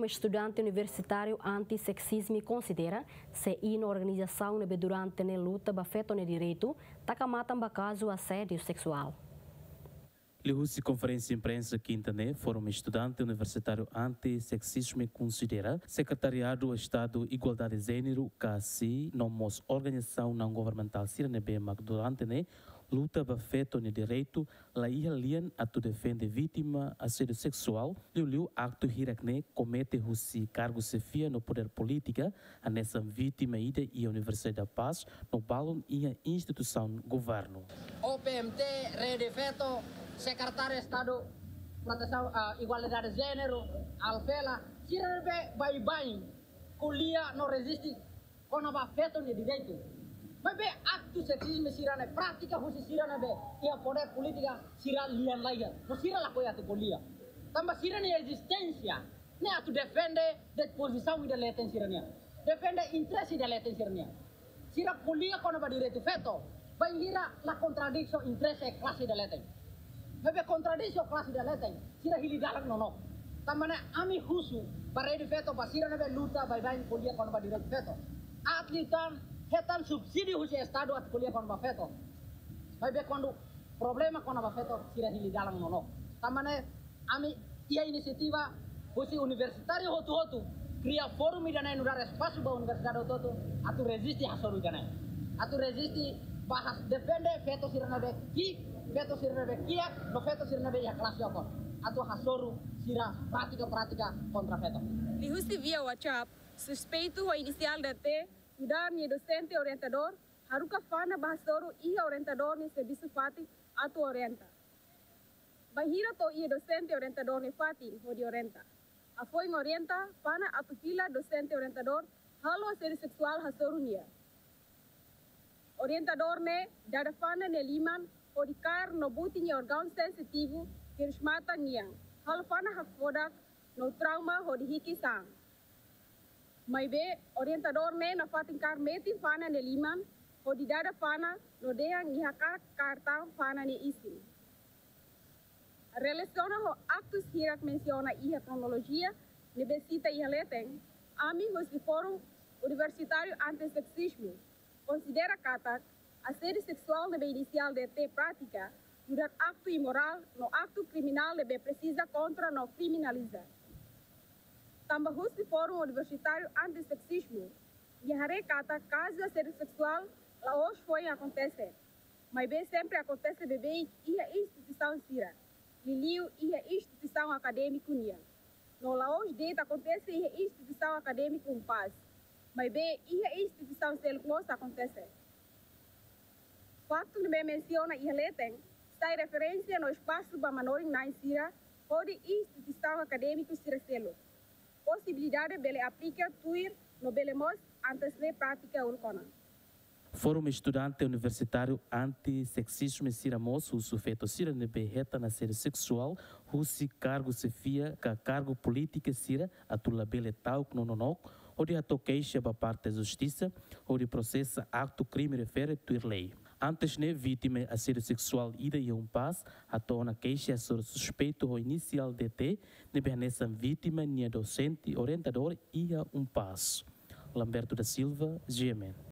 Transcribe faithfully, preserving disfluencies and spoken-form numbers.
Estudante Universitáriu Anti-Seksizmu konsidera se iha organizasaun ne'ebé durante ne'e luta ba feto nia direitu taka matan ba kazu asédiu seksuál. Liuhusi konferénsia imprensa kinta ne'e, Fórum Estudante Universitáriu Anti-Seksizmu konsidera Sekretariadu Estadu Igualdade Jéneru, ka SEJE, no mós organizasaun naun-governamentál sira ne'ebé mak durante ne'e luta ba feto nia direitu la iha lian atu defende vítima asédiu seksuál, liuliu aktu hirak ne'e komete husi kargu xefia no podér polítika, hanesan vítima ida iha Universidade da Paz no balun iha instituisaun governu. O P M T, Rede Feto, Sekretáriu Estadu Protesaun, ah, Igualdade Jéneru, Alfela, sira ne'ebé baibain ko'alia no reziste kona-ba feto nia direitu. Maibé aktu seksizmu sira-ne'e, prátika husi sira ne'ebé iha podér polítika, sira lian laiha. No sira lakohi atu ko'alia. Tanba sira-nia ezisténsia ne'e atu defende de'it pozisaun ida leten sira-nian. Defende interese ida leten sira-nian. Sira ko'alia kona-ba direitu feto, bainhira la kontradís ho interese klase ida leten. Maibé kontradís ho klase ida leten, sira hili dalan nonook. Tanba ne'e ami husu ba Rede Feto, ba sira ne'ebé luta baibain ko'alia kona-ba direitu feto. Aat liután hetan subsídiu husi Estadu atu ko'alia kona-ba feto. Maibé kuandu problema kona-ba feto, sira hili dalan nonook. Tanba ne'e ami iha inisiativa husi universitáriu hotu-hotu kria fórum ida-ne'e nu'udar espasu ba universidade hotu-hotu atu reziste hasoru ida-ne'e. Atu reziste ba hasoru defende feto sira ne'ebé ki'ik, feto sira ne'ebé kiak, no feto sira ne'ebé iha klase okos. Atu hasoru sira prátika-prátika kontra feto. Liuhusi via WhatsApp, suspeitu ho inisiál D T, nu'udar nia dosente orientadór, haruka Fana ba hasoru iha orientadór nia servisu fatin atu orienta. Bainhira to'o iha dosente orientadór nia fatin hodi orienta, hafoin orienta Fana atu fila, dosente orientadór halo asédiu seksuál hasoru nia. Orientadór ne'e dada Fana nia liman hodi kaer no buti nia órgaun sensitivu, hirus-matan nian, halo Fana hakfodak no trauma hodi hikis an. Maibé orientadór ne'e nafatin kaer metin Fana nia liman hodi dada Fana no dehan nia hakarak kaer tan Fana nia isin. Relasiona ho aktus hirak mensiona iha kronolojia ne'ebé sita iha leten, ami husi Fórum Universitáriu Anti-Seksizmu konsidera katak asédiu seksuál ne'ebé inisiál D T pratika nu'udar aktu imorál no aktu kriminál ne'ebé presiza kontra no kriminaliza. Tanba husi Fórum Universitáriu Anti-Seksizmu nia haree katak kazu asédiu seksuál la'ós foin akontese, maibé sempre akontese beibeik iha instituisaun sira, liuliu iha instituisaun akadémiku nian. No la'ós de'it akontese iha instituisaun akadémiku UNPAZ, maibé iha instituisaun seluk mós akontese. Faktu ne'ebé mensiona iha leten sai referénsia no espasu ba manorin-na'in sira hodi instituisaun akadémiku sira seluk. Posibilidade bele aplika tuir no bele mós antes ne'e pratika uluk ona. Fórum Estudante Universitáriu Anti-Seksizmu sira mós husu feto sira ne'ebé hetan asédiu seksuál husi kargu xefia ka kargu polítika sira atu labele ta'uk no nonook, hodi hato'o keixa ba parte justisa, hodi prosesa aktu krime refere tuir lei. Antes ne'e, vítima asédiu seksuál ida iha UNPAZ hato'o ona keixa hasoru suspeitu ho inisiál D T, ne'ebé hanesan vítima nia dosente orientadór iha UNPAZ. Lamberto da Silva, G M N.